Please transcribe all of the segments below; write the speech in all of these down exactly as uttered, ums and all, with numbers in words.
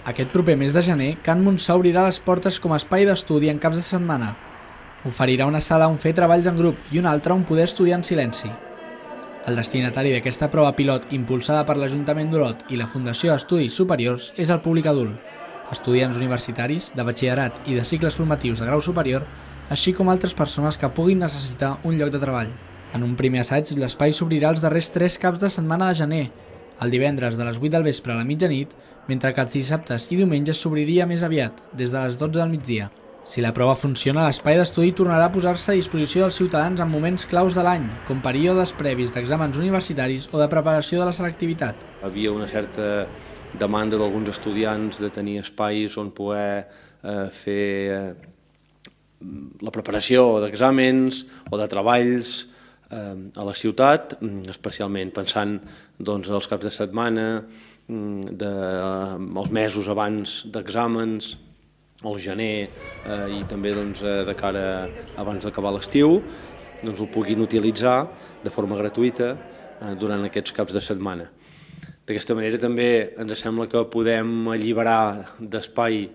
Aquest proper mes de gener, Can Montsó obrirà les portes com a espai d'estudi en caps de setmana. Oferirà una sala on fer treballs en grup i una altra on poder estudiar en silenci. El destinatari d'aquesta prova pilot impulsada per l'Ajuntament d'Olot i la Fundació Estudis Superiors és el públic adult, estudiants universitaris, de batxillerat i de cicles formatius de grau superior, així com altres persones que puguin necessitar un lloc de treball. En un primer assaig, l'espai s'obrirà els darrers tres caps de setmana de gener, el divendres de les vuit del vespre a la mitjanit, mentre que els dissabtes i diumenges s'obriria més aviat, des de les dotze del migdia. Si la prova funciona, l'espai d'estudi tornarà a posar-se a disposició dels ciutadans en moments claus de l'any, com períodes previs d'exàmens universitaris o de preparació de la selectivitat. Havia una certa demanda d'alguns estudiants de tenir espais on poder eh, fer eh, la preparació d'exàmens o de treballs a la ciutat, especialment pensant doncs, als caps de setmana, de, els mesos abans d'exàmens, al gener eh, i també doncs, de cara abans d'acabar l'estiu, doncs, el puguin utilitzar de forma gratuïta eh, durant aquests caps de setmana. D'aquesta manera també ens sembla que podem alliberar d'espai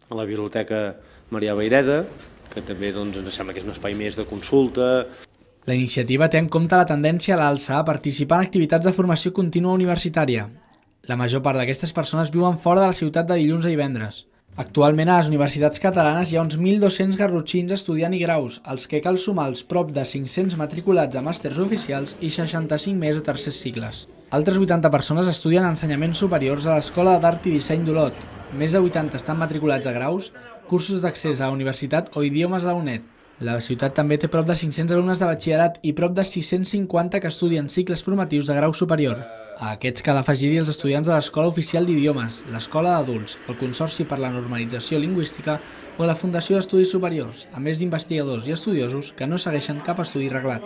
a la Biblioteca Marià Vayreda, que també doncs, ens sembla que és un espai més de consulta. La iniciativa té en compte la tendència a l'alça a participar en activitats de formació contínua universitària. La major part d'aquestes persones viuen fora de la ciutat de dilluns a divendres. Actualment a les universitats catalanes hi ha uns mil dos-cents garrotxins estudiant i graus, als que cal sumar els prop de cinc-cents matriculats a màsters oficials i seixanta-cinc més a tercers cicles. Altres vuitanta persones estudien ensenyaments superiors a l'Escola d'Art i Disseny d'Olot. Més de vuitanta estan matriculats a graus, cursos d'accés a la universitat o idiomes a la UNED. La ciutat també té prop de cinc-cents alumnes de batxillerat i prop de sis-cents cinquanta que estudien cicles formatius de grau superior. A aquests cal afegir-hi els estudiants de l'Escola Oficial d'Idiomes, l'Escola d'Adults, el Consorci per la Normalització Lingüística o la Fundació d'Estudis Superiors, a més d'investigadors i estudiosos que no segueixen cap estudi reglat.